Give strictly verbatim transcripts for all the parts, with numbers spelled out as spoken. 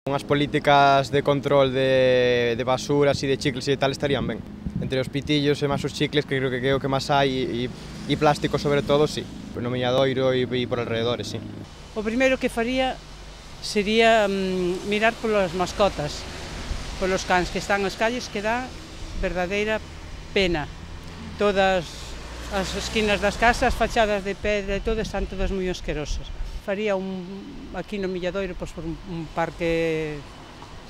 Unhas políticas de control de, de basuras e de chicles e tal estarían ben. Entre os pitillos e máis os chicles, que creo que é o que máis hai, e, e plástico sobre todo, sí. No miñadoiro e, e por alrededores, sí. O primeiro que faría sería mm, mirar polas mascotas, polos cans que están nas calles, que dá verdadeira pena. Todas as esquinas das casas, fachadas de pedra e todo, están todas moi asquerosas. Faría un, aquí no Milladoiro, pois, por un, un parque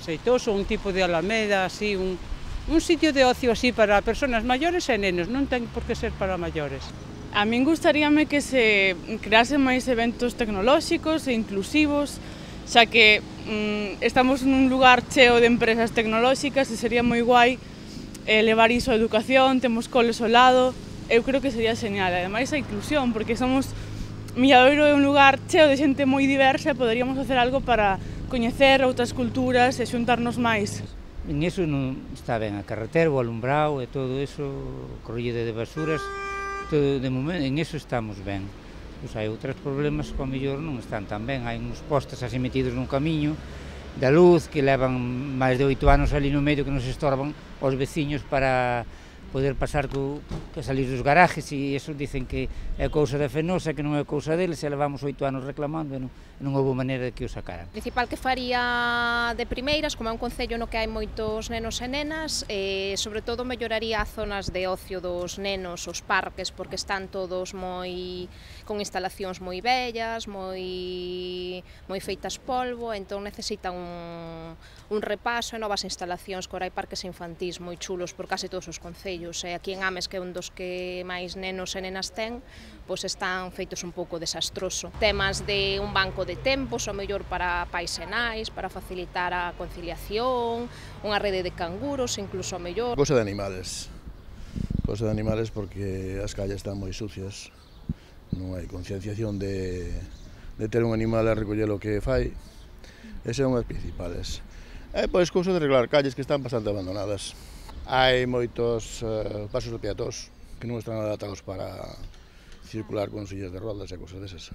xeitoso, un tipo de alameda, así, un, un sitio de ocio así para persoas maiores e nenos, non ten por que ser para maiores. A min gustaríame que se creasen máis eventos tecnolóxicos e inclusivos, xa que mm, estamos nun lugar cheo de empresas tecnolóxicas e sería moi guai eh, levar iso a educación, temos coles ao lado, eu creo que sería genial, ademais a inclusión, porque somos Milladoiro é un lugar cheo de xente moi diversa e poderíamos facer algo para coñecer outras culturas e xuntarnos máis. En iso non está ben a carretera, o alumbrado e todo iso, recollida de basuras, todo de momento, en iso estamos ben. Pois hai outros problemas que ao mellor non están tan ben, hai uns postes así metidos nun camiño da luz que levan máis de oito anos ali no medio que nos estorban aos veciños para poder pasar co, que salir dos garajes, e iso dicen que é cousa da Fenosa, que non é cousa deles, e levamos oito anos reclamando e non, non houve maneira de que o sacaran. O principal que faría de primeiras, como é un concello no que hai moitos nenos e nenas, eh, sobre todo melloraría as zonas de ocio dos nenos, os parques, porque están todos moi con instalacións moi bellas, moi moi feitas polvo, entón necesitan un, un repaso e novas instalacións, que ora hai parques infantís moi chulos por case todos os concellos. E aquí en Ames, que é un dos que máis nenos e nenas ten, pois están feitos un pouco desastroso. Temas de un banco de tempos, o mellor para pais e nais, para facilitar a conciliación, unha rede de canguros, incluso o mellor. Cosa de animales, cosa de animales porque as calles están moi sucias, non hai concienciación de, de ter un animal a recoller o que fai, ese é un das principales. E pois cousa de arreglar calles que están bastante abandonadas. Hai moitos uh, pasos de peatós que non están adaptados para circular con sillas de rodas e cousas desas.